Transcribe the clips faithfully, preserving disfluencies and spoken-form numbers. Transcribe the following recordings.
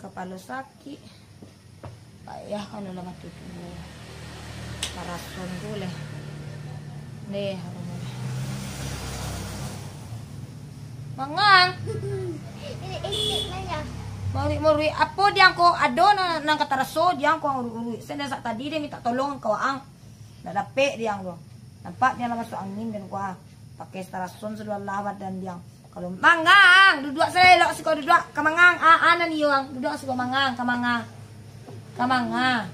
Kapalo sakik. Payah kalau lah mati tu. Parason tu leh. Deh, harum leh. Mangang. Ini icik nanya. Maruik-maruik. Apo diang ko? Ado nan, nan ka taraso diang ko uruik-uruik. Sen sak tadi deh minta tolong ka waang. Ndak dapek diang tu. Nampak diang lah masuk angin den kuah. Pakai tarason sadolah badan diang. Kalau mangang, duduak saelok siko duduak. Ka mangang, ah, ah, nan iyo ang. Duduak siko mangang, ka mangang. Ka mangang.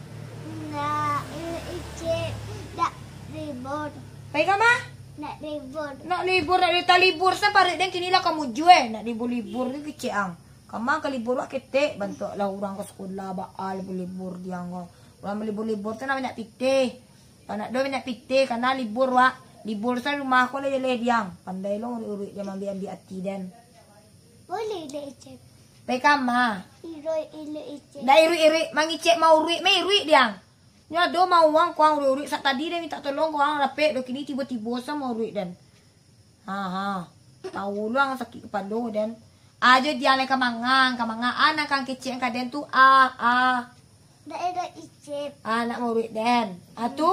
Ndak, eh, icik, ndak libur. Pai ka ma? Ndak libur. Ndak libur, ndak li-, talibur, sa paruik den kini lah ka mujue. Ndak libur-libur tu kecek ang. Ka ma ka libur wak ketek, bantuak lah urang ka sakolah, baa libur-libur diang ko. Urang balibur-libur tu nak banyak pitih. Pandak do banyak pitih, karena libur wak. Libur sa rumah ko lah jaleh diang. Pandai lo uruik-uruik diang, ambiak-ambiak ati den. Boleh dek icik. Pai ka ma? Iruik-iruik icik. Ndak iruik-iruik, mangicek mauruik, mairuik diang. Nyo ado mauang kuang uruik-uruik, sak tadi den minta tolong kuang rapek do, kini tibo-tibo sa mauruik den. Ha, ha. Tau luang sakik kapalo den. Ajo diang lai ka mangang, ka mangang. Ah, nan kang kecek ka den tu, ah, ah. Daerah Icip. Ah, nak murid den. Ah, tu?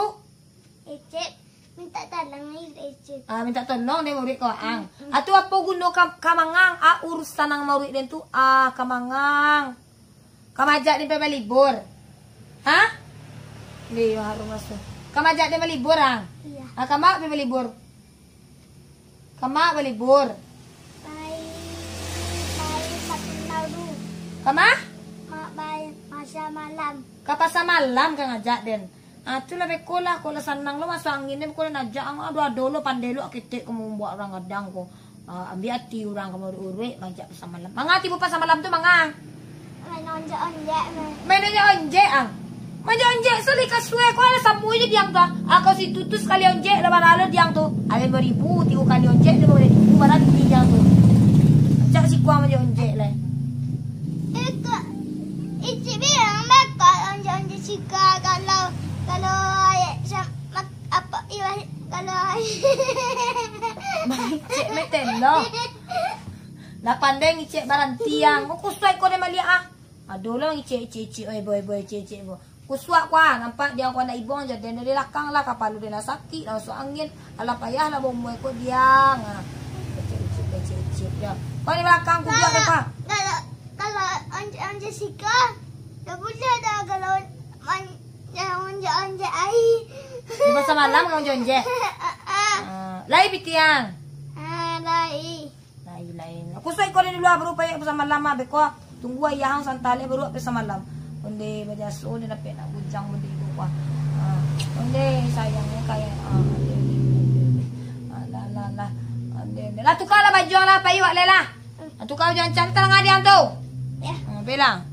Icip, minta tolong ni, Icip. Ah, minta tolong dek murid kau, ang. Mm-mm. Ah, tu apo guno ka, ka mangang? Ah, urusan nang murid den tu, ah, ka mangang. Ka majak den pai balibur. Ha? Iyo, harum raso. Ka majak den balibur, ang? Iya. Ah, ka ma pai balibur? Ka ma balibur? Pai, pai Satu Nauru. Ka ma? Ma-, pai Pasar Malam. Ka Pasar Malam ka ngajak den. Ah, tu lah beko lah, ko lah sanang lo, maso angin ni beko lah najak ang, ado-ado lo, pandai lo, ketek ko mambuek urang gadang ko. Ah, ambiak ati urang ka mauruik-uruik, majak Pasar Malam. Manga tibo Pasar Malam tu, manga? Main onjek-onjek, main. Main onjek-onjek, ang? Main onjek-onjek, sali ka suai, ko alah samo je diang tu, ah. Ah, kau situ tu sakali onjek, lah bara lo diang tu. Alah limo ribu, tigo kali onjek, limo ribu, bara lo diang tu. Cak sikuang main onjek-onjek lah. Eh, kak, Icip bilang bakal onjek-onjek sika kalau, kalau ayat sa-, mak-, apa, iwah, kalau Icip metelo. Lah pandai ngicek baranti, ang. Ko kusuai ko den maliek, ah. Ado lo ngicek, icik-icik, oi, boy, boy, icik-icik, boy. Kusuak ko, ah, nampak diang ko anak ibong, jadi dari lakang lah, kapalo den lah sakik, lah masuk angin. Alah payah lah baumua ko diang, ah. Icik-icik, icik-icik, diang. Ko di balakang kuduak deh, Pak. Kalau, kalau onjek-onjek sika, dak buliah dah kalau man-, yang onjek-onjek ai. Di Pasar Malam ka onjek-onjek? Ah, ah. Ah, lai pitih ang? Ah, lai. Lai, lai. Kusuak ko den dulu, ah, baru pai Pasar Malam, ah, beko. Tunggu ayah ang santa lai baru Pasar Malam. Onde bajaso, onde dapek nak bujang, onde iko kuah. Ah, onde sayang ni kaya, ah, onde, onde, onde, onde. Ah, lah, lah, lah. Onde, onde. Lah, tuka lah baju ang lah, pai wak lai lah. Lah, tuka baju ang, cari tangan diang tu. Ya. Ah, pai lah.